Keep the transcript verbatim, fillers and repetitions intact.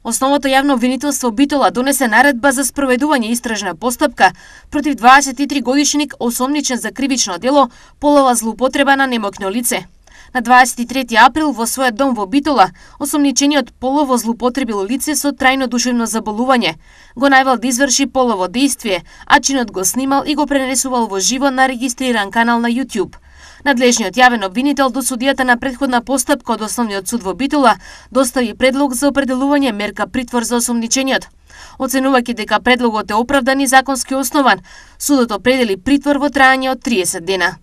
Основното јавно обвинителство Битола донесе наредба за спроведување истражна постапка против дваесет и три годишник осомничен за кривично дело полова злоупотреба на немоќно лице. На дваесет и трети април во својот дом во Битола, осомничениот полово злоупотребило лице со трајно душевно заболување го најавил да изврши полово дејствие, а чинот го снимал и го пренесувал во живо на регистриран канал на YouTube. Надлежниот јавен обвинител до судијата на претходна постапка од Основниот суд во Битола достави предлог за определување мерка притвор за осомничениот. Оценувајќи дека предлогот е оправдан и законски основан, судот определи притвор во траење од триесет дена.